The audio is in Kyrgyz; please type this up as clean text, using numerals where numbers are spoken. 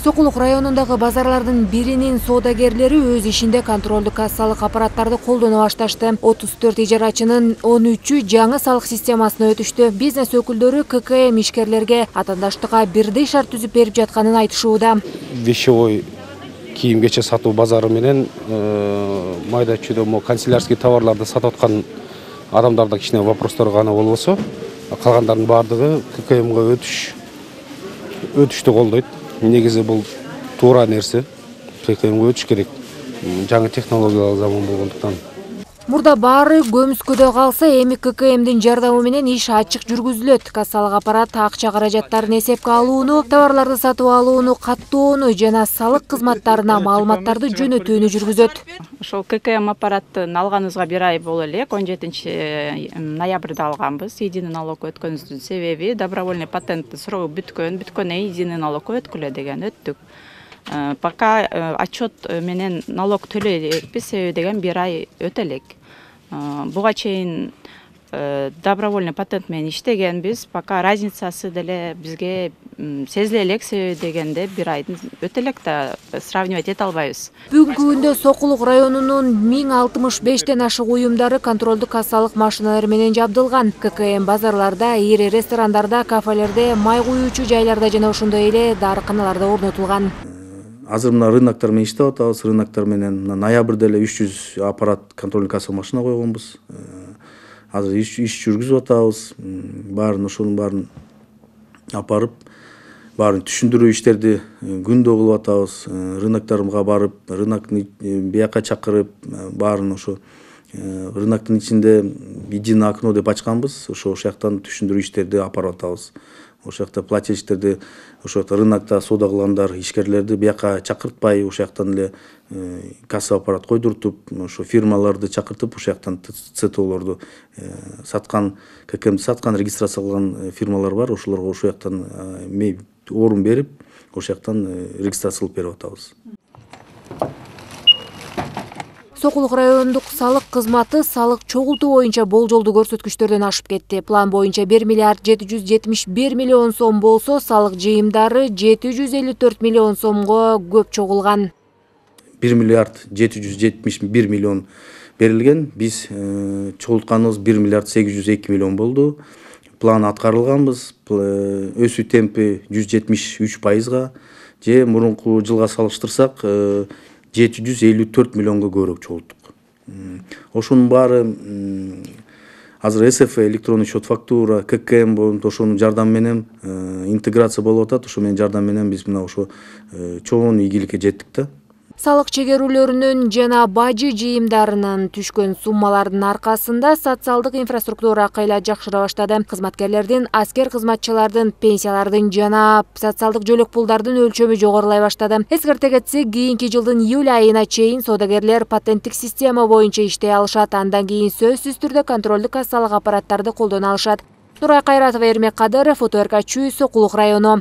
Сокулук районундагы базарлардын биринин соодагерлери өз ишинде контролдук кассалык аппараттарды колдоно башташты. 34 ижарачынын 13-ü жаңы салык системасына өтүштү. Бизнес өкүлдөрү ККМ ишкерлерге атаандаштыкка бирдей шарт түзүп берип жатканын айтышууда. Вещевой кийим-кече сатуу базары менен майда чүйдө канцелярский товарларды сатып аткан адамдарда кичине вопростор гана болбосо, калгандардын баардыгы ККМга өтүштү колдойт. Негизи бул туура нерсе. ККМга өтүш керек. Жаңы технологиялык заман болгондуктан. Мурда баары көмүскөдө калса, эми ККМдин жардамы менен иш ачык жүргүзүлөт. Кассалык аппарат акча каражаттарын эсепке алууну, товарларды сатып алууну каттоону жана салык кызматтарына маалыматтарды жөнөтүүнү жүргүзөт. Ошол ККМ аппараттын алганыбызга 1 ай боло элек, 17-ноябрда алганбыз. Единый налог өткөнүбүздүн себеби добровольный патенттин срогу бүткөн единый налог өткүлө деген өттүк. Пока отчет менен налог төлөй элекпиз, себеби деген 1 ай өтө элек. Буга чейин добровольный патент менен иштегенбиз, пока разницасы деле бизге сезиле элек, себеби дегенде 1 айдын өтө элек да сравнивать эте албайбыз. Бүгүнкү күндө Сокулук районунун 1065тен ашык уюмдары контролдук кассалык машиналары менен жабдылган. ККМ базарларда, ири ресторандарда, кафелерде, май куюучу жайларда жана ошондой эле дарыканаларда орнотулган. Азыр мына рыноктор менен иштеп атабыз. Рыноктор менен ноябрда эле 300 аппарат контрольдук кассалык машина койгонбуз. Азыр иш жүргүзүп атабыз. Ошонун баарын апарып, баарын түшүндүрүү иштерди күндө кылып атабыз. Рынокторго барып, рынокны бияка чакырып, баарын ошо рыноктун ичинде единое окно деп ачканбыз. Ошол жактан түшүндүрүү иштерди апарып атабыз. Ошол жакта плательщиктерди, ошол рынокто соода кылгандар, ишкерлерди бияка чакыртпай, ошол жактан эле касса аппарат койдуртуп, ошо фирмаларды чакыртып, ошол жактан ЦТОлорду саткан, ККМди саткан, регистрация кылган фирмалар бар, ошолорго ошол жактан орун берип, ошол жактан регистрация кылып берип атабыз. Сокулук райондук салык кызматы салык чогултуу боюнча болжолдуу көрсөткүчтөрдөн ашып кетти. План боюнча 1 миллиард 771 миллион сом болсо, салык жыйымдары 754 миллион сомго көп чогулган. 1 миллиард 771 миллион берилген. Биз чогултканыбыз 1 миллиард 802 миллион болду. План аткарылганбыз. Өсүү темпи 173%, же мурунку жылга салыштырсак 754 миллионго көбүрөөк чогулттук. Ошонун баары азыр СФ электронный счет фактура, ККМ болуп, ошонун жардамы менен интеграция болуп атат. Ошо менен жардам менен биз мына ошо чоң ийгиликке жеттик да. Салык чегерүүлөрүнүн жана бажы жыйымдарынын түшкөн суммалардын аркасында социалдык инфраструктура кайла жакшыра баштады. Кызматкерлердин, аскер кызматчылардын пенсиялардын жана социалдык жөлөк пулдардын өлчөмү жогорулай баштады. Эскерте кетсек, кийинки жылдын июль айына чейин соодагерлер патенттик система боюнча иштей алышат. Андан кийин сөзсүз түрдө контролдук кассалык аппараттарды колдоно алышат. Нурай Кайратова, Эрмек Кадыров, Фото РК Чүй, Сокулук району.